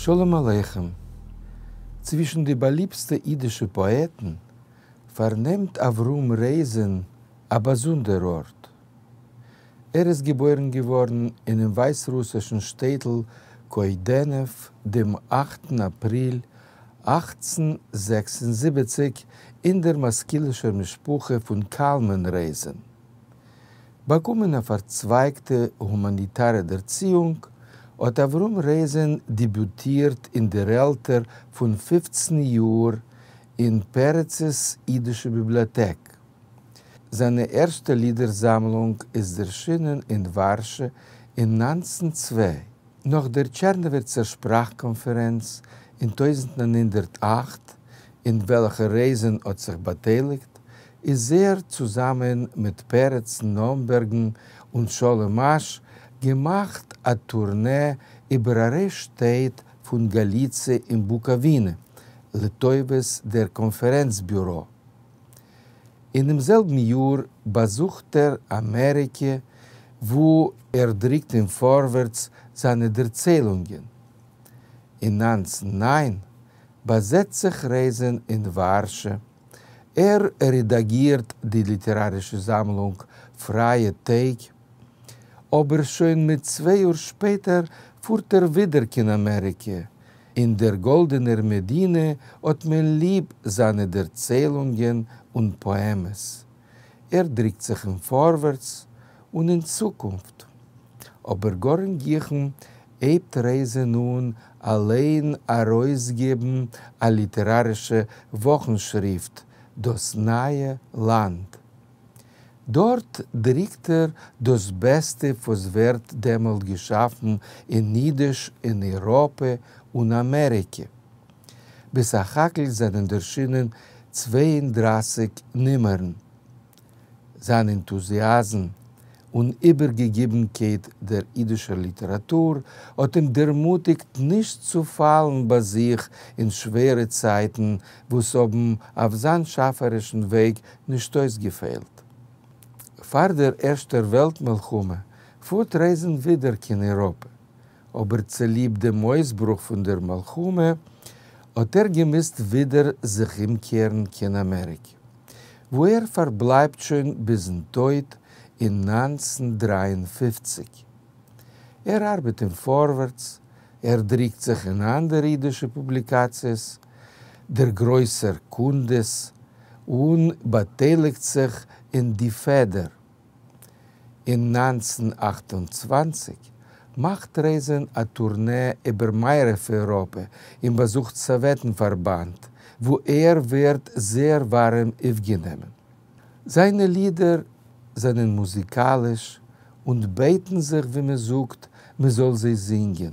שלום עליכם. צווישן די באליבסטע אידישע פאעטן פארנעמט אברהם רייזען א באזונדער ארט. ער איז געבוירן געווארן אינעם ווייסרוסישן שטעטל קוידענעוו דעם אכטן אפריל 1876 אין דער משכילישער משפחה פון קלמן רייזען. באקומען א פארצווייגטע הומאניטארע דערציאונג, האט אברהם רייזען דעביוטירט אין דער עלטער פון 15 יאר אין פרצ'ס אידישע ביבליאטעק. זיינע ערשטע לידער-זאמלונג איז דערשינען אין ווארשע אין 1902. נאך דער טשערנאוויצער שפראך-קאנפערענץ אין 1908, אין וועלכער רייזען האט זיך באטייליגט, איז ער צוזאמען מיט פרץ נאמבערגן און שלום אש געמאכט א טורנע איבער א ריי שטעט פון גאליציע און בוקאווינע לטובת דער קאנפערענץ-ביורא. אינעם זעלבן יאר באזוכט ער אמעריקע, וואו ער דרוקט אין פארווערטס זיינע דערציילונגען. אין 1909 באזעצט זיך רייזען אין ווארשע. ער רעדאגירט די ליטערארישע זאמלונג פרייע טעג, אבער שוין מיט צוויי יאר שפעטער פארט ער ווידער קיין אמעריקע. אין דער גאלדענער מדינה האט מען ליב זיינע דערציילונגען און פאעמעס. ער דרוקט זיך אין פארווערטס און אין צוקונפט. אבער גאר אין גיכן הייבט רייזען אן אליין ארויסגעבן א ליטערארישע וואכנשריפט דאס נייע לאנד. דארט דרוקט ער דאס בעסטע וואס ווערט דעמאלט געשאפן אין אידיש אין אייראפע און אמעריקע. בסך הכל זענען דערשינען 32 נומערן. זיין ענטוזיאזם און איבערגעגעבנקייט דער אידישער ליטעראטור האט אים דערמוטיגט נישט צו פאלן ביי זיך אין שווערע צייטן, וואס האבן אויף זיין שאפערישן וועג נישט אויסגעפעלט. פאר דער ערשטער וועלט מלחמה פארט רייזען ווידער קיין אייראפע, אבער צוליב דעם אויסברוך פון דער מלחמה האט ער געמוזט ווידער זיך אומקערן קיין אמעריקע, וואו ער פארבלייבט שוין ביזן טויט אין 1953. ער ארבעט אין פארווערטס, ער דרוקט זיך אין אנדערע אידישע פובליקאציעס, דער גרויסער קונדס, און באטייליגט זיך אין די פעדער. אין 1928 מאכט רייזען א טורנע איבער מערב אייראפע און באזוכט סאוועטן-פארבאנד, וואו ער ווערט זייער ווארעם אויפגענומען. זיינע לידער זענען מוזיקאליש און בעטן זיך, ווי מען זאגט, מען זאל זיי זינגען.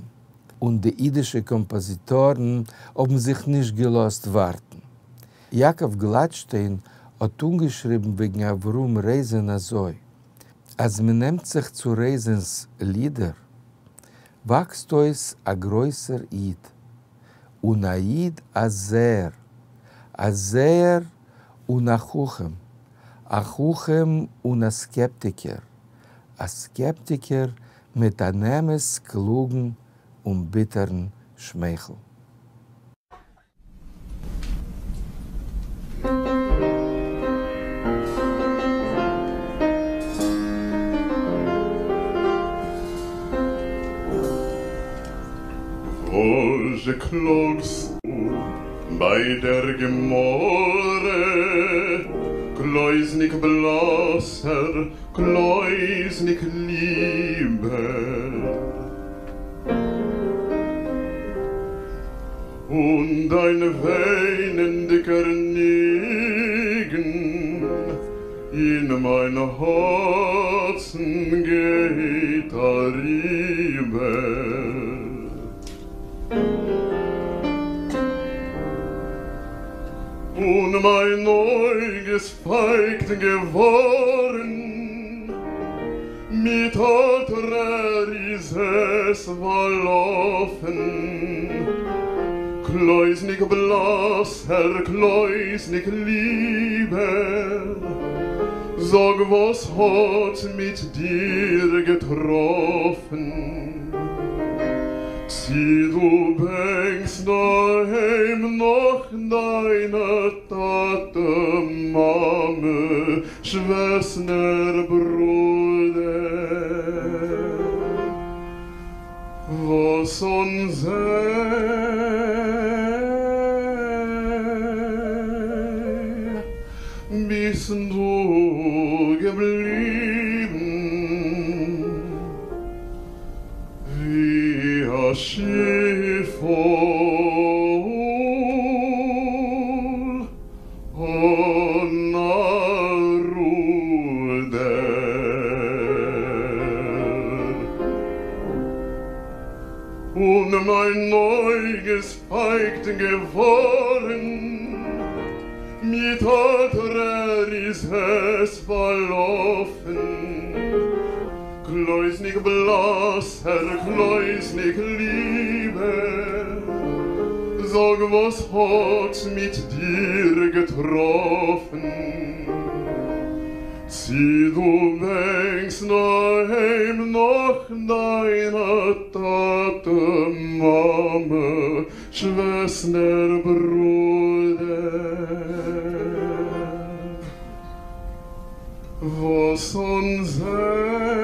און די אידישע קאמפאזיטארן האבן זיך נישט געלאזט ווארטן. יעקב גלאטשטיין האט אנגעשריבן וועגן אברהם רייזען אזוי: אז מען נעמט זיך צו רייזענס לידער, וואקסט אויס א גרויסער איד, און א איד א זעער, א זעער און א חכם, א חכם און א סקעפטיקער, א סקעפטיקער מיט אן אמת קלוגן און ביטערן שמייכל. וואס זשע קלאגסטו ביי דער גמרא, קלויזניק בלאסער, קלויזניק ליבער? און דיין וויינענדיקער ניגון אין מיין הארצן גייט אריבער. און מיין אויג איז פייכט געווארן, מיט א טרער איז עס פארלאפן. קלויזניק בלאסער, קלויזניק ליבער, זאג וואס האט מיט דיר געטראפן? צי דו בענקסט אהיים נאך דיינע טאטע מאמע שוועסטער ברודער וואס אן זיי ביסט דו געבליבן ווי א שיפל אן א רודער. און מיין אויג איז פייכט געווארן, מיט א טרער איז עס פארלאפן. קלויזניק בלאסער, קלויזניק ליבער, זאג וואס האט מיט דיר געטראפן? צי דו בענקסט אהיים נאך דיינע טאטע מאמע שוועסטער ברודער וואס אן זיי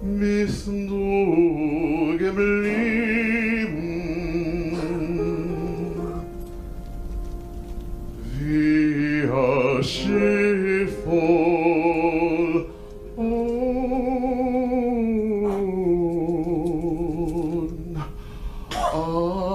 ביסט דו געבליבן ווי א שיפל אן א.